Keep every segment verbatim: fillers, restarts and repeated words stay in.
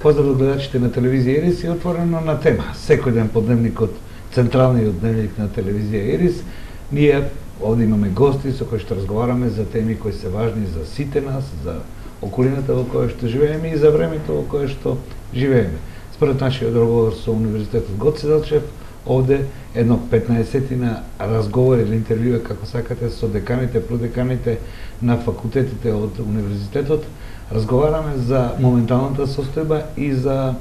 Поздрав до гледачите на телевизија Ирис и отворено на тема. Секој ден по дневникот, централниот дневник на телевизија Ирис, ние овде имаме гости со кои што разговараме за теми кои се важни за сите нас, за околината во која што живееме и за времето во кое што живееме. Според нашиот договор со Универзитетот Гоце Делчев, овде едно петнаесетина разговори или интервјуа, како сакате, со деканите, продеканите на факултетите од Универзитетот, разговараме за моменталната состојба и за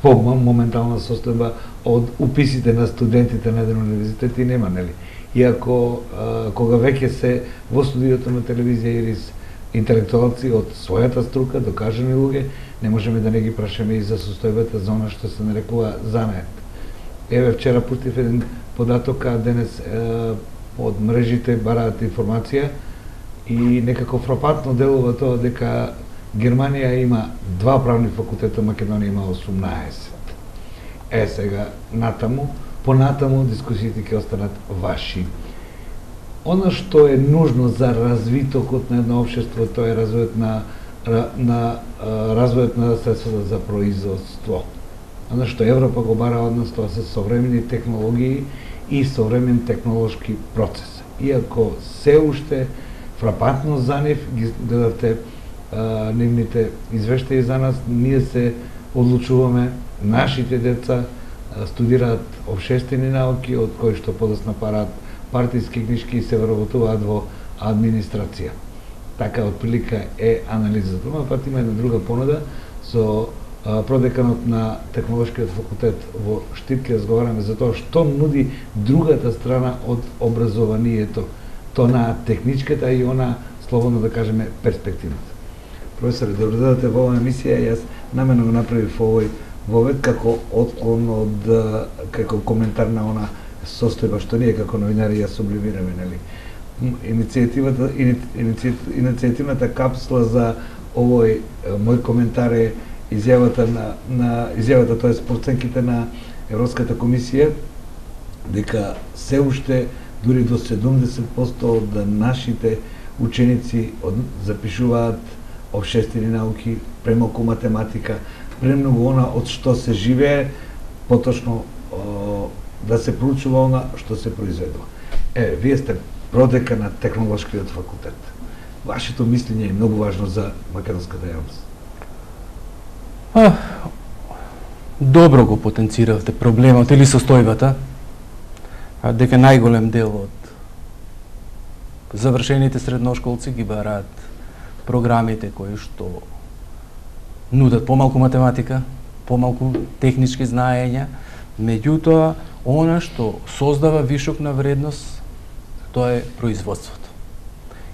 моментална состојба од уписите на студентите на еден универзитет и нема, нели? Иако, а, кога веќе се во студиото на телевизија Ирис интелектуалци од својата струка, докажани луѓе, не можеме да не ги прашаме и за состојбата за она што се нарекува занает. Еве, вчера пуштив еден податок, а денес е, од мрежите бараат информација и некако фрапантно делува тоа дека Германија има два правни факултета, Македонија има осумнаесет. Е, сега, натаму, понатаму дискусиите ќе останат ваши. Она што е нужно за развитокот на едно општество, тоа е развојот на, на, развојот на средствата за производство. Она што Европа го бара од нас, тоа се современи технологии и современ технолошки процес. Иако се уште фрапантно за нив, ги гледате а, нивните извештаи за нас, ние се одлучуваме, нашите деца а, студираат општествени науки, од кои што подоцна параат партиски книжки и се вработуваат во администрација. Така отприлика е анализата. Но пат има една друга понуда со а, продеканот на Технолошкиот факултет во Штип, ке разговараме за тоа што нуди другата страна од образованието, то на техничката и она, слободно да кажеме, перспективната. Професоре, да додадете во оваа емисија, јас намерно го направив овој вовед како отклон од, како коментар на она состојба што ние како новинари ја сублимираме, нели? Иницијативата, иници, иницијативната капсула за овој мој коментар е изјавата на, на изјавата, тоа е проценките на Европската комисија, дека се уште дури до седумдесет проценти од нашите ученици од, запишуваат општествени науки, премалку математика, премногу она од што се живее, поточно о, да се проучува она што се произведува. Е, вие сте продека на Технолошкиот факултет. Вашето мислење е многу важно за македонската јавност. А, добро го потенциравте проблемот или состојбата, а дека најголем дел од завршените средношколци ги бараат програмите кои што нудат помалку математика, помалку технички знаења, меѓутоа она што создава вишок на вредност, тоа е производството.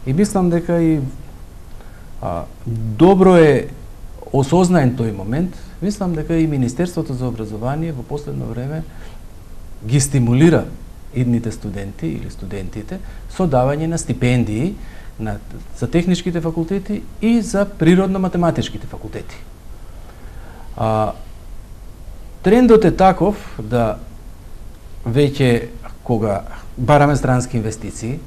И мислам дека и а, добро е осознаен тој момент, мислам дека и Министерството за образование во последно време ги стимулира идните студенти или студентите со давање на стипендии на, за техничките факултети и за природно-математичките факултети. А, трендот е таков да веќе кога бараме странски инвестиции,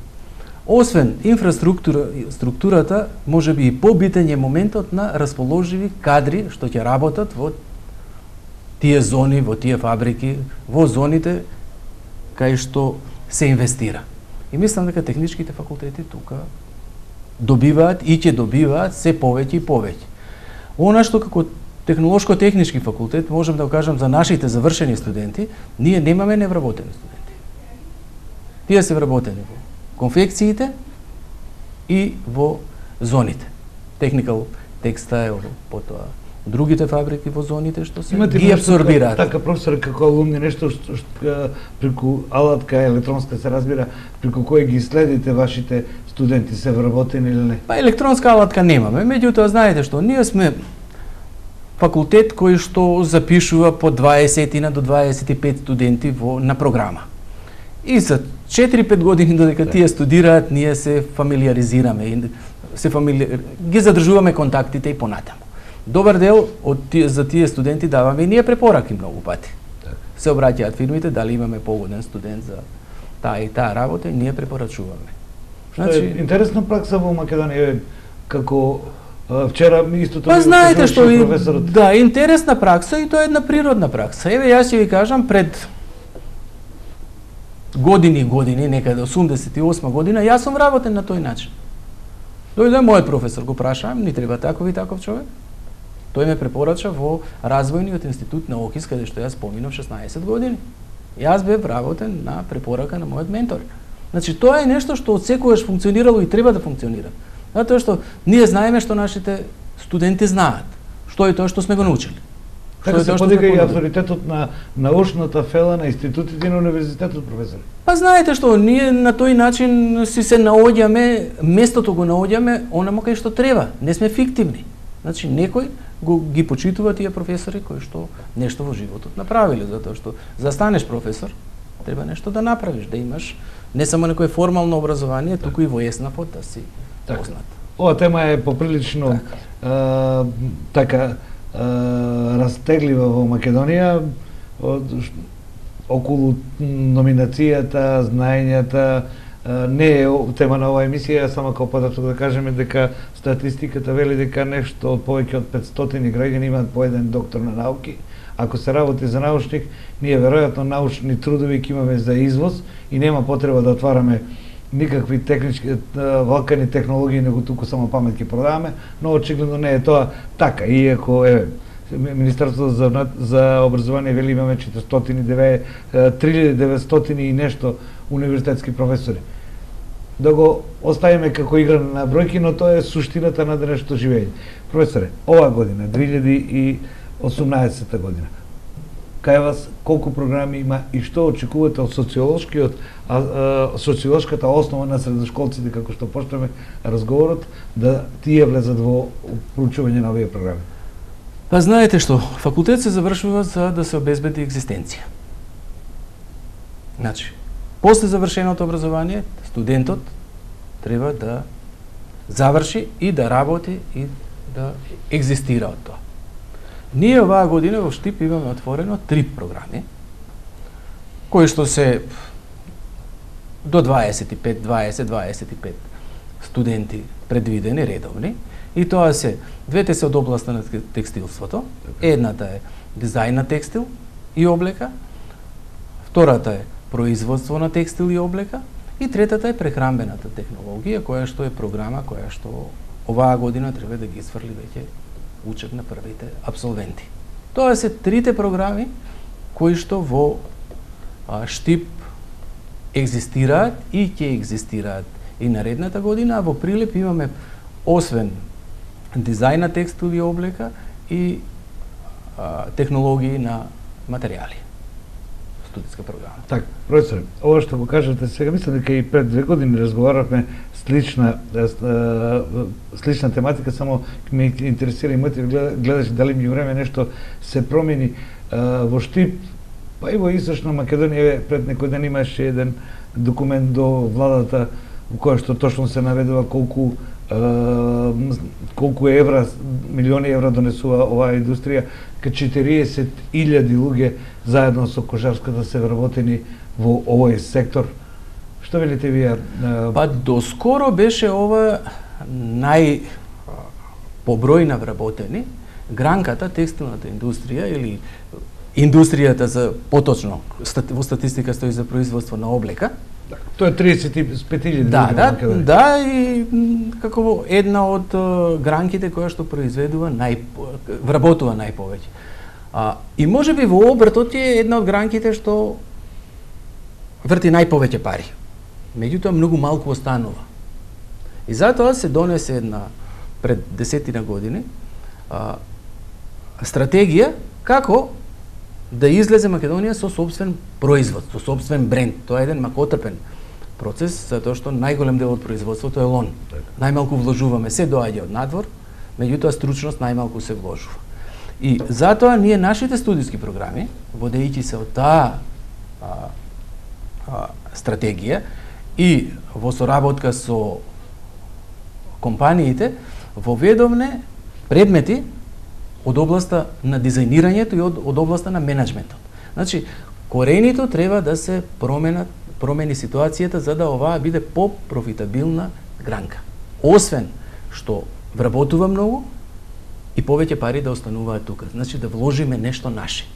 освен инфраструктура, структурата, може би и побитен е моментот на расположиви кадри што ќе работат во тие зони, во тие фабрики, во зоните кај што се инвестира. И мислам дека техничките факултети тука добиваат и ќе добиваат се повеќе и повеќе. Она што како Технолошко-технички факултет, можем да кажам за нашите завршени студенти, ние немаме невработени студенти. Тие се вработени во конфекциите и во зоните. Техникал, текстайл, потоа другите фабрики во зоните што се имате ги абсорбираат. Така, професор, како алумни, нешто што, што преку алатка електронска се разбира, преку кој ги следите вашите студенти, се вработени или не? Па електронска алатка немаме, меѓутоа знаете што, ние сме факултет кој што запишува по дваесет до дваесет и пет студенти во, на програма. И за четири-пет години додека тие студираат, ние се фамилиаризираме и се фамили... ги задржуваме контактите и понатаму. Добар дел од тие, за тие студенти даваме и ние препораки многу пати. Так. Се обраќаат фирмите дали имаме погоден студент за таа и таа работа и ние препорачуваме. Значи, е интересна пракса во Македонија како Вчера ми истото Па ми знаете што и, професорот. да, интересна пракса и тоа е една природна пракса. Еве јас ќе ви кажам пред години и години, некаде осумдесет и осма година, јас сум работен на тој начин. Дојде мојот професор, го прашаам, ни треба таков и таков човек. Тој ме препорача во развојниот институт на Охис, каде што јас поминав шеснаесет години. Јас бев работен на препорака на мојот ментор. Значи тоа е нешто што одсекогаш функционирало и треба да функционира. Затоа што ние знаеме што нашите студенти знаат. Што е тоа што сме го научили. Така се подига и авторитетот на научната фела на институтите и на универзитетот, професор. Па знаете што, ние на тој начин си се наоѓаме, местото го наоѓаме онаму кај што треба. Не сме фиктивни. Значи некој го ги почитува тие професори кои што нешто во животот направиле, затоа што за да станеш професор треба нешто да направиш, да имаш не само некое формално образование, туку и во еснапот да си познат. Ова тема е поприлично така, така растеглива во Македонија околу номинацијата, знаењата. Не е тема на оваа емисија, само како податок да кажеме дека статистиката вели дека нешто од повеќе од петстотини граѓани имаат по еден доктор на науки. Ако се работи за научник, ние веројатно научни трудови ќе имаме за извоз и нема потреба да отвараме никакви технички валкани технологии, него туку само памет ќе продаваме, но очигледно не е тоа така. Иако е Министерството за, за образование вели имаме четиристотини и деветдесет, три илјади и деветстотини и нешто универзитетски професори. Да го оставиме како игра на бројки, но тоа е суштината на денешното живење. Професоре, оваа година, две илјади и осумнаесета година, кај вас колку програми има и што очекувате од социолошкиот, а, а, социолошката основа на средношколците, како што почнеме разговорот, да тие влезат во проучување на овие програми? Па знаете што, факултет се завршува за да се обезбеди екзистенција. Значи, после завршеното образование, студентот треба да заврши и да работи и да екзистира од тоа. Ние оваа година во Штип имаме отворено три програми, кои што се до дваесет и пет, дваесет, дваесет и пет студенти предвидени, редовни, и тоа се, двете се од областа на текстилството, едната е дизајн на текстил и облека, втората е производство на текстил и облека, и третата е прехранбената технологија, која што е програма која што оваа година треба да ги изврли веќе учеб на првите абсолвенти. Тоа се трите програми кои што во а, Штип екзистираат и ќе екзистираат и наредната година, а во Прилеп имаме освен дизајн на текстил и облека и а, технологии на материјали. Студиска програма. Так, професор, ова што го кажете сега, мислам дека и пред две години разговаравме слична слична тематика, само ме интересира и мотив, гледаш дали ми време нешто се промени во Штип, па и во Источна Македонија. Пред некој ден имаше еден документ до владата во кој што точно се наведува колку колку евра, милиони евра донесува оваа индустрија, ка четириесет илјади луѓе заедно со кожарската се вработени во овој сектор. Што велите вие? Па доскоро беше ова нај по број на вработени гранката, текстилната индустрија или индустријата за поточно во статистика стои за производство на облека. Тоа е триесет и пет илјади. Да, да, да, и како една од гранките која што произведува нај вработува најповеќе. А, и можеби во обртот е една од гранките што врти најповеќе пари. Меѓутоа многу малку останува. И затоа се донесе една пред десетина години а, стратегија како да излезе Македонија со сопствен производ, со сопствен бренд. Тоа е еден макотрпен процес, затоа што најголем дел од производството е лон. Најмалку вложуваме, се доаѓа од надвор, меѓутоа стручност најмалку се вложува. И затоа ние нашите студиски програми, водејќи се од таа а, а, стратегија и во соработка со компаниите, воведовме предмети од областа на дизајнирањето и од, од областа на менеджментот. Значи, коренито треба да се променат, промени ситуацијата за да оваа биде по-профитабилна гранка. Освен што вработува многу и повеќе пари да остануваат тука. Значи да вложиме нешто наше.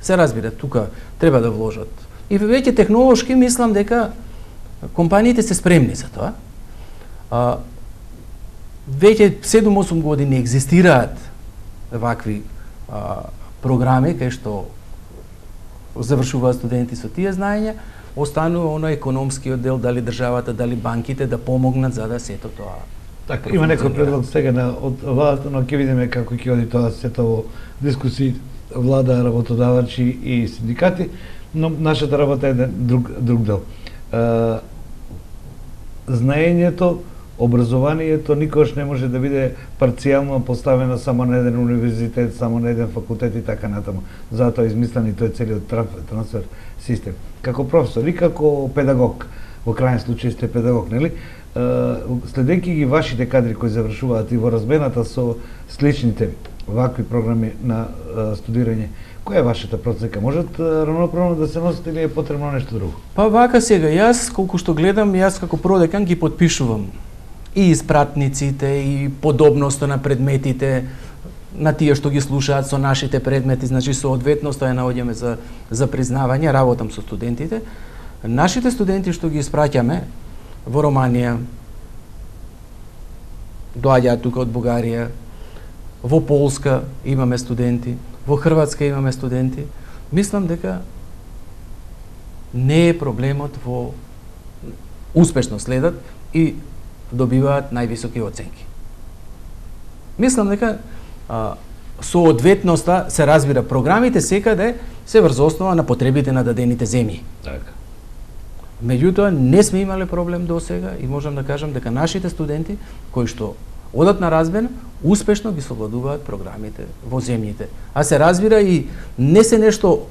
Се разбира, тука треба да вложат. И веќе технолошки мислам дека компаниите се спремни за тоа. А, веќе седум-осум години екзистираат вакви а, програми кај што завршуваат студенти со тие знаења, останува оној економскиот дел, дали државата, дали банките да помогнат за да сето тоа. Така, има некој предлог сега на од владата, но ќе видиме како ќе оди тоа сето во дискусии влада, работодавачи и синдикати, но нашата работа е друг друг дел. А, знаењето, образованието никош не може да биде парцијално поставено само на еден универзитет, само на еден факултет и така натаму. Затоа измислен и тој целиот трансфер систем. Како професор и како педагог, во крајен случај сте педагог, нели? Следејќи ги вашите кадри кои завршуваат и во размената со сличните вакви програми на студирање, која е вашата процека? Можат равноправно да се носите или е потребно нешто друго? Па вака сега, јас колку што гледам, јас како продекан ги подпишувам и испратниците, и подобноста на предметите, на тие што ги слушаат со нашите предмети, значи соодветноста ја наоѓаме за, за признавање, работам со студентите. Нашите студенти што ги испраќаме во Романија, доаѓаат тука од Бугарија, во Полска имаме студенти, во Хрватска имаме студенти. Мислам дека не е проблемот во успешно следат и добиваат највисоки оценки. Мислам дека а, соодветноста се разбира, програмите секаде се врз основа на потребите на дадените земји. Така. Меѓутоа не сме имале проблем до сега и можам да кажам дека нашите студенти кои што одат на размена успешно ги совладуваат програмите во земјите. А се разбира и не се нешто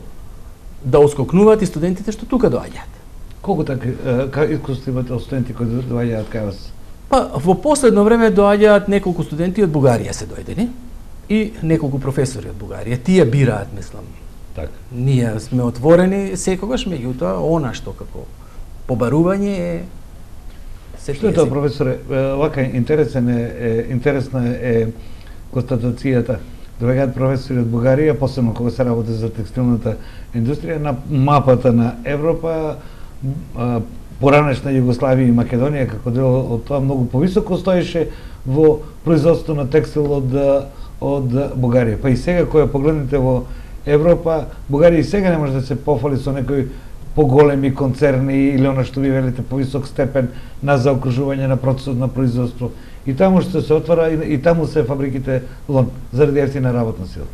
да оскокнуваат и студентите што тука доаѓаат. Колку така искуство имате од студенти кои доаѓаат кај вас? Па во последно време доаѓаат неколку студенти од Бугарија се дојдени и неколку професори од Бугарија. Тие бираат, мислам. Така. Ние сме отворени секогаш, меѓутоа она што како побарување е се Што е тоа, професоре? Вака интересен е, е интересна е констатацијата. Доаѓаат професори од Бугарија, посебно кога се работи за текстилната индустрија, на мапата на Европа, поранешна Југославија и Македонија како дел од тоа многу повисоко стоеше во производството на текстил од од Бугарија. Па и сега кога погледнете во Европа, Бугарија и сега не може да се пофали со некои поголеми концерни или она што ви велите повисок степен на заокружување на процесот на производство. И таму што се отвара и, и таму се фабриките лон заради ефтина работна сила.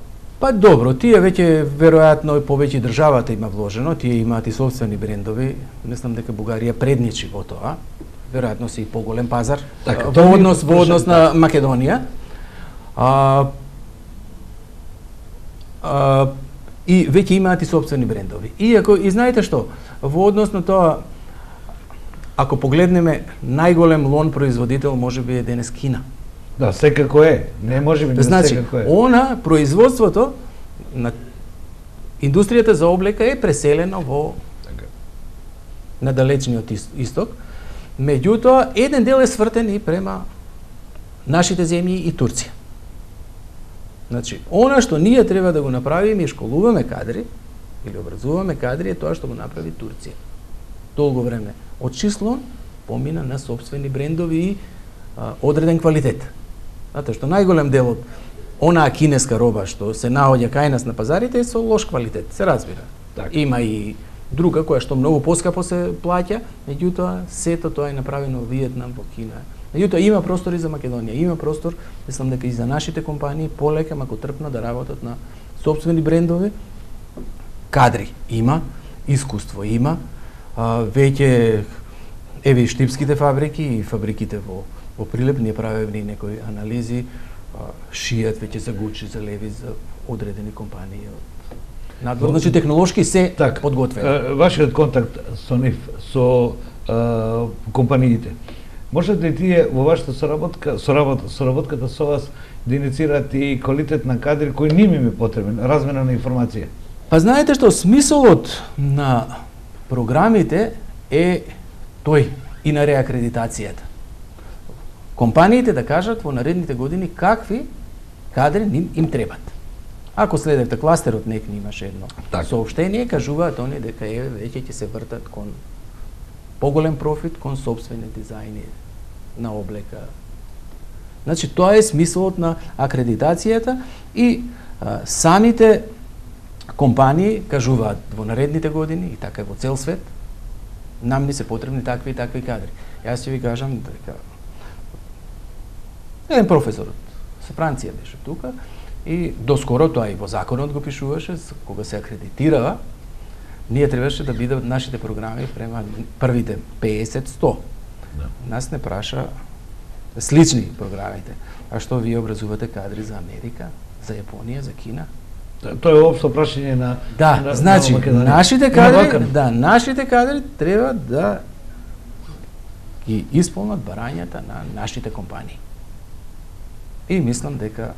Па добро, тие веќе веројатно повеќе државата има вложено, тие имаат и собствени брендови. Мислам дека Бугарија предничи во тоа. Веројатно се и поголем пазар така, во однос во однос на Македонија. А, а, и веќе имаат и собствени брендови. Иако и знаете што, во однос на тоа, ако погледнеме, најголем лон производител можеби е денес Кина. Да, секако е. Не може би, значи, секако е. Она производството на индустријата за облека е преселено во така. На далечниот исток. Меѓутоа, еден дел е свртен и према нашите земји и Турција. Значи, она што ние треба да го направиме и школуваме кадри или образуваме кадри е тоа што го направи Турција. Долго време од числон помина на собствени брендови и а, одреден квалитет. Затоа што најголем дел од онаа кинеска роба што се наоѓа кај нас на пазарите е со лош квалитет, се разбира. Так. Има и друга која што многу поскапо се плаќа, меѓутоа сето тоа е направено во Виетнам, во Кина. Меѓутоа има простор и за Македонија, има простор, мислам дека и за нашите компании полека мако трпно да работат на собствени брендови. Кадри има, искуство има, а, веќе еве и штипските фабрики и фабриките во во Прилеп ние правиме и некои анализи, а, шијат веќе за Гучи, за Леви, за одредени компании од надвор. Значи технолошки се так, подготвени. Вашиот контакт со нив, со а, компаниите, можат ли тие во вашата соработка, соработка, соработката со вас да иницираат и квалитет на кадри кои ними ми потребен, размена на информација? Па знаете што, смисолот на програмите е тој и на реакредитацијата. компаниите да кажат во наредните години какви кадри им, им требат. Ако следевте кластерот, нек имаше едно так. соопштение, кажуваат они дека е веќе ќе се вртат кон поголем профит, кон сопствени дизајни на облека. Значи тоа е смислот на акредитацијата и а, самите компании кажуваат во наредните години и така во цел свет нам ни се потребни такви и такви кадри. Јас ќе ви кажам дека еден професор со Франција беше тука и доскоро тоа и во законот го пишуваше, кога се акредитирава, ние требаше да бидат нашите програми према првите песет сто. Да. Нас не праша слични програмите. А што вие образувате кадри за Америка, за Јапонија, за Кина? Тоа е општо прашање на Да, на, значи на нашите кадри, да, нашите кадри треба да ги исполнат барањата на нашите компании. И мислам дека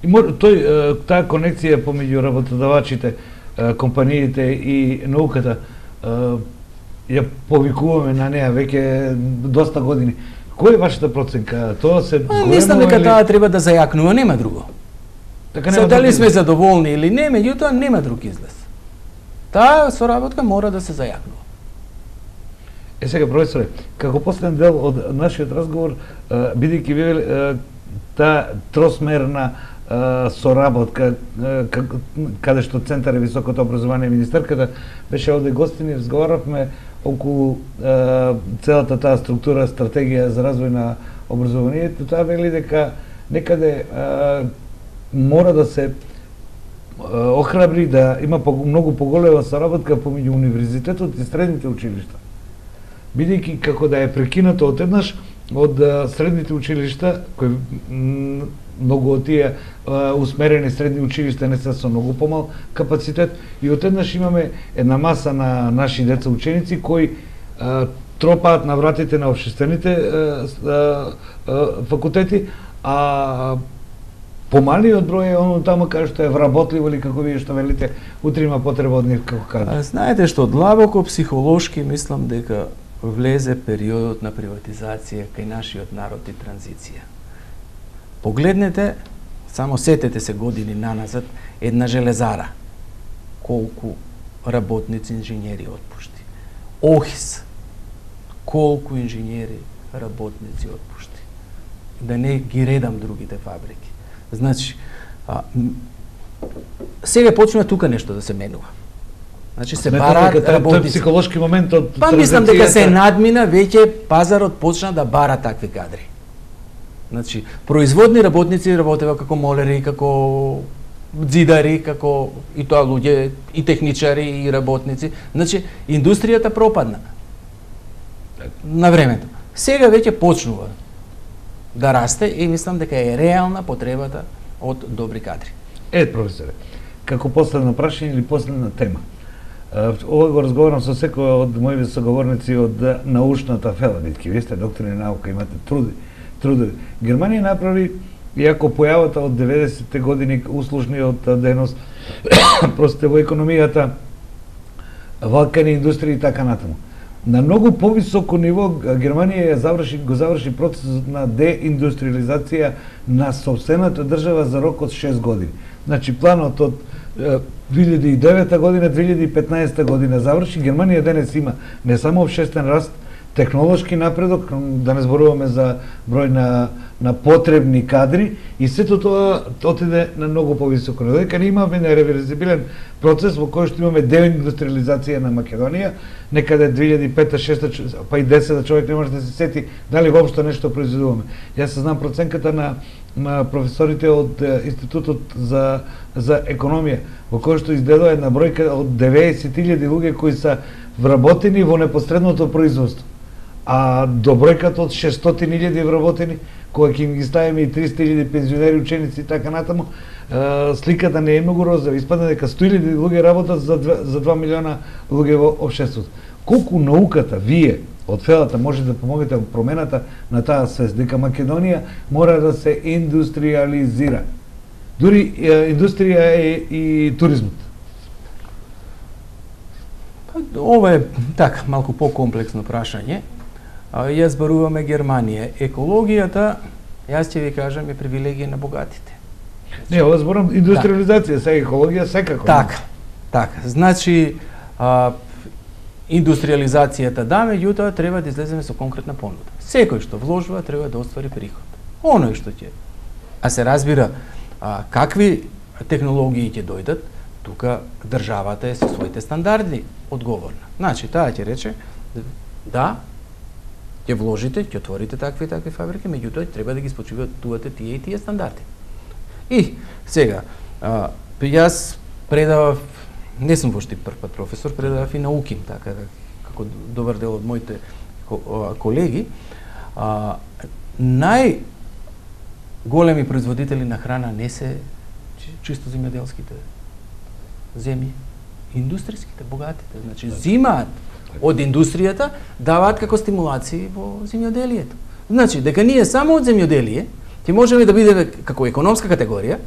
и мор, тој таа конекција помеѓу работодавачите, компаниите и науката ја повикуваме на неа веќе доста години. Која е вашата проценка? Тоа се зголемува? Мислам дека или... таа треба да зајакнува, нема друго. Така нема. Се дали сме задоволни или не, меѓутоа нема друг излез. Таа соработка мора да се зајакнува. Е сега, професоре, како последен дел од нашиот разговор, бидејќи вие таа тросмерна соработка каде што Центар за високото образование и министерката беше овде гостини, разговаравме околу целата таа структура, стратегија за развој на образованието. Тоа вели дека некаде мора да се охрабри да има многу поголема соработка помеѓу универзитетот и средните училишта. Бидејќи како да е прекинато одеднаш од средните училишта, кои многу од тие усмерени средни училишта не се со многу помал капацитет, и одеднаш имаме една маса на наши деца ученици кои а, тропаат на вратите на општествените а, а, а, факултети, а помалиот број е оно таму каде што е вработливо или како вие што велите, утре има потреба од нив како кадри. Знаете што, длабоко психолошки мислам дека влезе периодот на приватизација кај нашиот народ и транзиција. Погледнете, само сетете се години наназад, една железара. Колку работници, инженери отпушти. ОХИС. Колку инженери, работници отпушти. Да не ги редам другите фабрики. Значи, а, сега почнува тука нешто да се менува. Значи се бараат работници. Тој психолошки момент од Па мислам дека се надмина, веќе пазарот почна да бара такви кадри. Значи, производни работници работева како молери, како ѕидари, како и тоа луѓе, и техничари, и работници. Значи, индустријата пропадна на времето. Сега веќе почнува да расте и мислам дека е реална потребата од добри кадри. Е, професоре, како последно прашање или последна тема. Ова го разговарам со секој од моите соговорници од научната фела, бидејќи вие сте доктори на наука, имате труди, трудови. Германија направи, иако појавата од деветдесетте години, услужниот денос, простите во економијата, валкани индустрија и така натаму. На многу повисоко ниво Германија ја заврши, го заврши процесот на деиндустриализација на сопствената држава за рок од шест години. Значи планот од две илјади и девета година, две илјади и петнаесета година заврши. Германија денес има не само општествен раст, технолошки напредок, да не зборуваме за број на, на потребни кадри, и сето тоа отиде на многу повисоко. Дека не имаме нереверзибилен процес во кој што имаме деиндустриализација на Македонија, некаде две илјади и пета, шеста, па и десета човек не може да се сети дали воопшто нешто произведуваме. Јас се знам проценката на на професорите од Институтот за за економија, во кој што изгледува една бројка од деветдесет илјади луѓе кои се вработени во непосредното производство. А до бројката од шестстотини илјади вработени, кога ќе ги ставиме и триста илјади пензионери, ученици и така натаму, сликата не е многу розова. Испадна дека сто илјади луѓе работат за два, за два милиона луѓе во општеството. Колку науката, вие од фелата може да помогнете во промената на таа свест, дека Македонија мора да се индустриализира. Дури индустрија е и туризмот. Ова е така малку покомплексно прашање. а, ја зборуваме Германија. Екологијата, јас ќе ви кажам, е привилегија на богатите. Не, ова зборам индустриализација, сега екологија секако. Така, така. Значи, а, индустриализацијата да, меѓутоа треба да излеземе со конкретна понуда. Секој што вложува треба да оствари приход. Оној што ќе. А се разбира, а, какви технологии ќе дојдат, тука државата е со своите стандарди одговорна. Значи, таа ќе рече, да, ќе вложите, ќе отворите такви и такви фабрики, меѓутоа треба да ги спочувате тие и тие стандарди. И сега, а, јас предавав, не сум вошти прв пат професор, предавав и на УКИМ, така како добар дел од моите колеги. А, најголеми производители на храна не се чисто земјоделските земји, индустријските, богатите. Значи, зимаат од индустријата, даваат како стимулации во земјоделието. Значи, дека ние само од земјоделие ќе можеме да бидеме како економска категорија,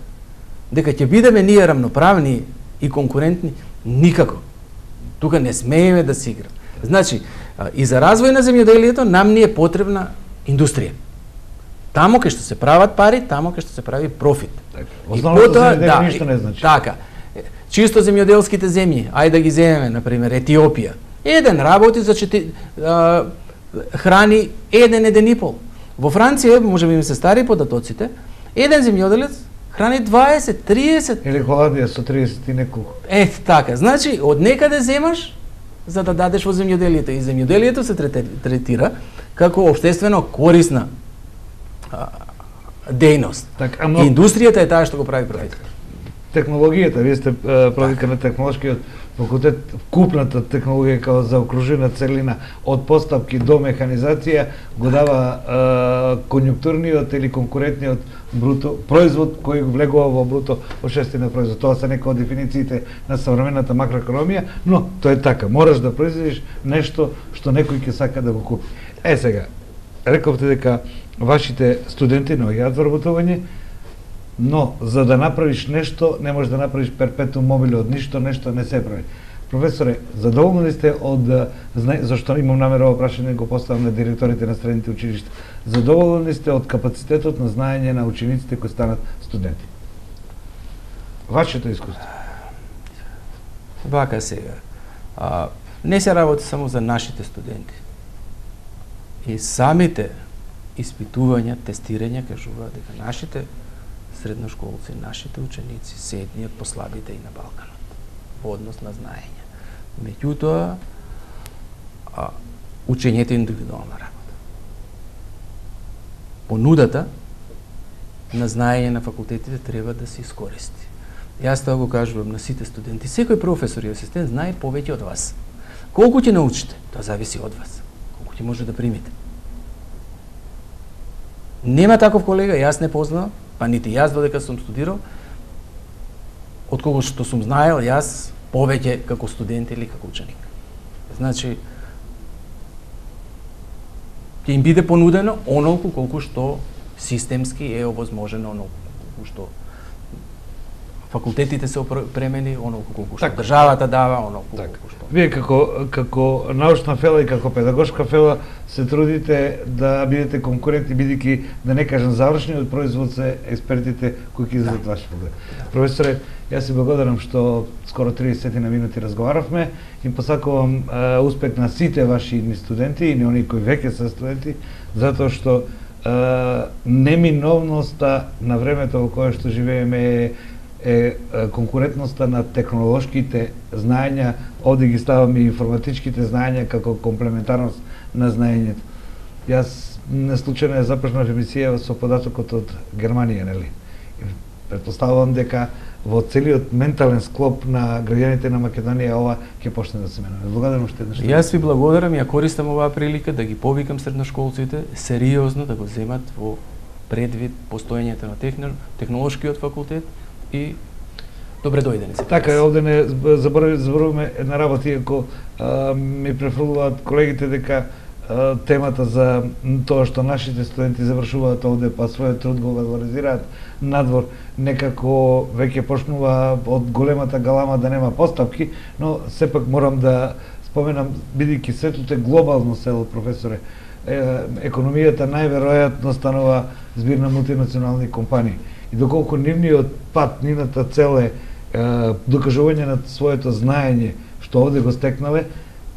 дека ќе бидеме ние рамноправни и конкурентни, никако. Тука не смееме да си играме. Значи, и за развој на земјоделието нам ни е потребна индустрија. Тамо кај што се прават пари, тамо кај што се прави профит. Основното земјоделие ништо не значи. Така. Чисто земјоделските земји, ајде да ги земеме, на пример, Етиопија. Еден работи за чети, а, храни еден, еден и пол. Во Франција, може би им се стари податоците, еден земјоделец храни дваесет, триесет. Или Холандија со триесет и неколку. Ето така. Значи, од некаде земаш за да дадеш во земјоделието. И земјоделието се третира како обштествено корисна а, дејност. Так, ама... Индустријата е таа што го прави профит. Технологијата, вие сте продика на технолошкиот факултет, купната технологија како заокружена целина од постапки до механизација го дава е, конјунктурниот или конкурентниот бруто производ кој го влегува во бруто обштествен производ. Тоа се некои од дефинициите на современата макроекономија, но тоа е така. Мораш да произведиш нешто што некој ќе сака да го купи. Е сега, рековте дека вашите студенти наоѓаат вработување, но за да направиш нешто, не можеш да направиш перпетум мобиле од ништо, нешто не се прави. Професоре, задоволни сте од, зашто имам намера ова прашање го поставам на директорите на средните училишта, задоволни сте од капацитетот на знаење на учениците кои станат студенти? Вашето искуство? Вака сега. А, не се работи само за нашите студенти. И самите испитувања, тестирања кажуваат дека нашите средношколци, нашите ученици се едни од послабите и на Балканот во однос на знаење. Меѓутоа, а, учењето е индивидуална работа. Понудата на знаење на факултетите треба да се искористи. Јас тоа го кажувам на сите студенти. Секој професор и асистент знае повеќе од вас. Колку ќе научите, тоа зависи од вас. Колку ќе може да примите. Нема таков колега, јас не познавам, па нити јас додека сум студирал, од кого што сум знаел јас повеќе како студент или како ученик. Значи, ќе им биде понудено онолку колку што системски е овозможено, онолку колку што факултетите се опремени, онолку колку што државата дава, онолку колку што. Вие како како научна фела и како педагошка фела се трудите да бидете конкурентни, бидејќи да не кажам завршниот производ се експертите кои ќе излезат ваш поглед. Професоре, јас се благодарам што скоро триесет на минути разговаравме и посакувам е, успех на сите ваши студенти и на оние кои веќе се студенти, затоа што е, неминовноста на времето во кое што живееме е е конкурентноста на технолошките знаења, овде ги ставаме информатичките знаења како комплементарност на знаењето. Јас неслучајно ја започнав емисија со податокот од Германија, нели? Претпоставувам дека во целиот ментален склоп на граѓаните на Македонија ова ќе почне да се менува. Благодарам уште еднаш. Јас ви благодарам и ја користам оваа прилика да ги повикам средношколците сериозно да го земат во предвид постоењето на техно, технолошкиот факултет и добре дојдени се. Така е, овде не забораваме една работа, иако а, ми префрлуваат колегите дека а, темата за тоа што нашите студенти завршуваат овде, па својот труд го валоризираат надвор, некако веќе почнува од големата галама да нема постапки, но сепак морам да споменам, бидејќи светот е глобално село, професоре, економијата најверојатно станува збир на мултинационални компании. И доколку нивниот пат, нивната цел е докажување на своето знаење што овде го стекнале,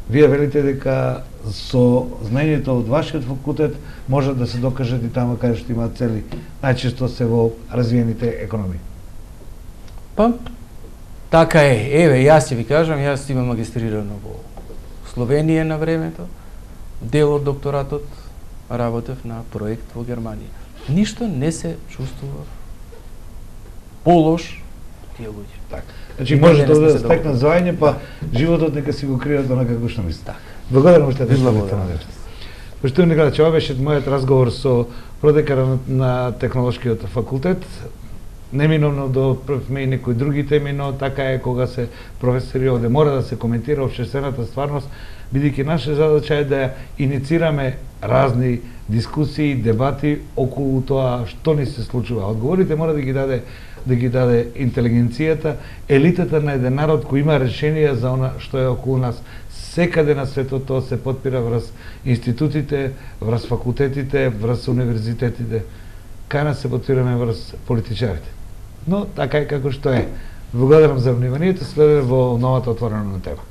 вие велите дека со знаењето од вашиот факултет може да се докажат и тamo каде што имаат цели, најчесто се во развиените економии. Па, така е. Еве, јас ќе ви кажам, јас имам магистрирано во Словенија на времето, дел од докторатот работев на проект во Германија. Ништо не се чувствува полош тие луѓе. Така. Значи може да да стекнат звање, па животот нека си го кријат онака како што мисли. Благодарам уште еднаш. Поштовани гледачи, ова беше мојот разговор со продеканот на Технолошкиот факултет. Неминовно да отправиме и некои други теми, но така е кога се професори овде. Мора да се коментира општествената стварност, бидејќи наша задача е да иницираме разни дискусии, дебати околу тоа што ни се случува. Одговорите мора да ги даде да ги даде интелигенцијата, елитата на еден народ кој има решенија за она што е околу нас. Секаде на светот тоа се потпира врз институтите, врз факултетите, врз универзитетите. Кај нас се потпираме врз политичарите. Но така е како што е. Благодарам за вниманието, следеме во новата отворена тема.